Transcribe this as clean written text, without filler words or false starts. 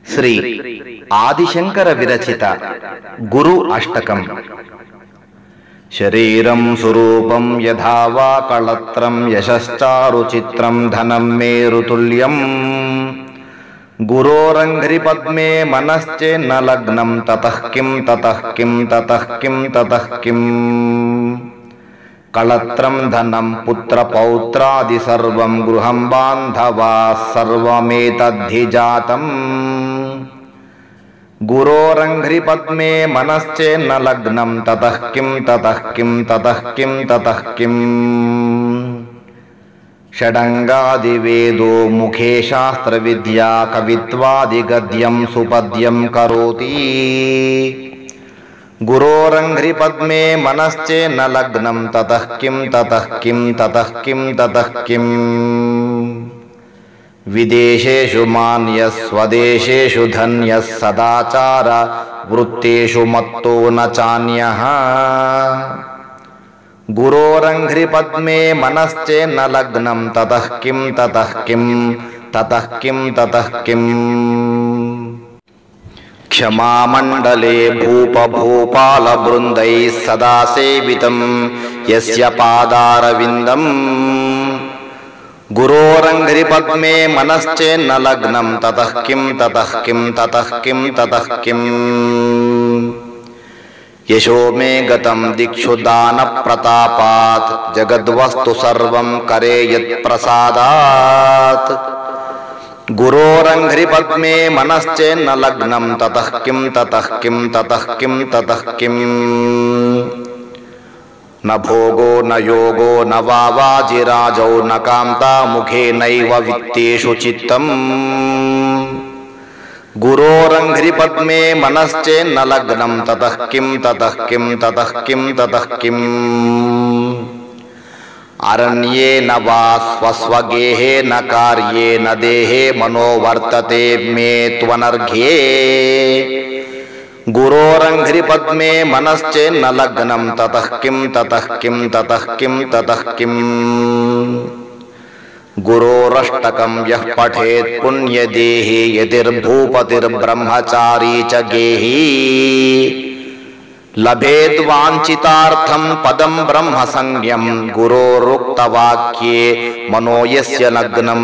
శ్రీ ఆదిశంకర విరచిత గురు అష్టకం. శరీరం స్వరూపం యథా వా కళత్రం యశశ్చారు చిత్రం ధనం మేరుతుల్యం గురోరంఘ్రి పద్మే మనశ్చేన్న లగ్నం తతః కిం తతః కిం తతః కిం తతః కిం కళత్రం ధనం పుత్ర పౌత్రాది సర్వం గృహం బాంధవా సర్వమేతద్ధి జాతం గురోరంఘ్రి పద్మే మనశ్చేన్న లగ్నం తతః కిం తతః కిం తతః కిం తతః కిం షడంగాది వేదో ముఖే శాస్త్ర విద్యా కవిత్వాది గద్యం సుపద్యం కరోతి గురోరంఘ్రి పద్మే మనశ్చేన్న లగ్నం తతః కిం తతః కిం తతః కిం తతః కిం విదేశేషు మాన్యః స్వదేశేషు ధన్యః సదాచార వృత్తేషు మత్తో న చాన్యః గురోరంఘ్రి పద్మే మనశ్చేన్న లగ్నం తతః కిం తతః కిం తతః కిం తతః కిం క్షమామండలే భూపభూపాల బృందైః సదా సేవితం యస్య పాదారవిందం గురోరంఘ్రి పద్మే మనశ్చేన్న లగ్నం తతః కిం తతః కిం తతః కిం తతః కిం యశో మే గతం దిక్షు దాన ప్రతాపాత్ జగద్వస్తు సర్వం కరే యత్ ప్రసాదాత్ గురోరంఘ్రి పద్మే మనశ్చేన్న లగ్నం తతః కిం తతః కిం తతః కిం తతః కిం న భోగో న యోగో న వాజిరాజౌ న కాంతా ముఖే నైవ విత్తేషు చిత్తం గురోరంఘ్రి పద్మే మనశ్చేన్న లగ్నం తతః కిం తతః కిం తతః కిం తతః కిం అరణ్యేన వా స్వస్వగేహేన కార్యేన దేహే మనోవర్తతే మే త్వనర్ఘ్యే గురోరంఘ్రి పద్మే మనశ్చేన్న లగ్నం తతః కిం తతః కిం తతః కిం తతః కిం గురోరష్టకం యః పఠేత్ పుణ్యదేహి యతిర్భూపతిర్బ్రహ్మచారీ చ గేహీ లభేద్వాంఛితార్థం పదం బ్రహ్మ సంజ్ఞం గురోరుక్తవాక్యే మనో యస్య లగ్నం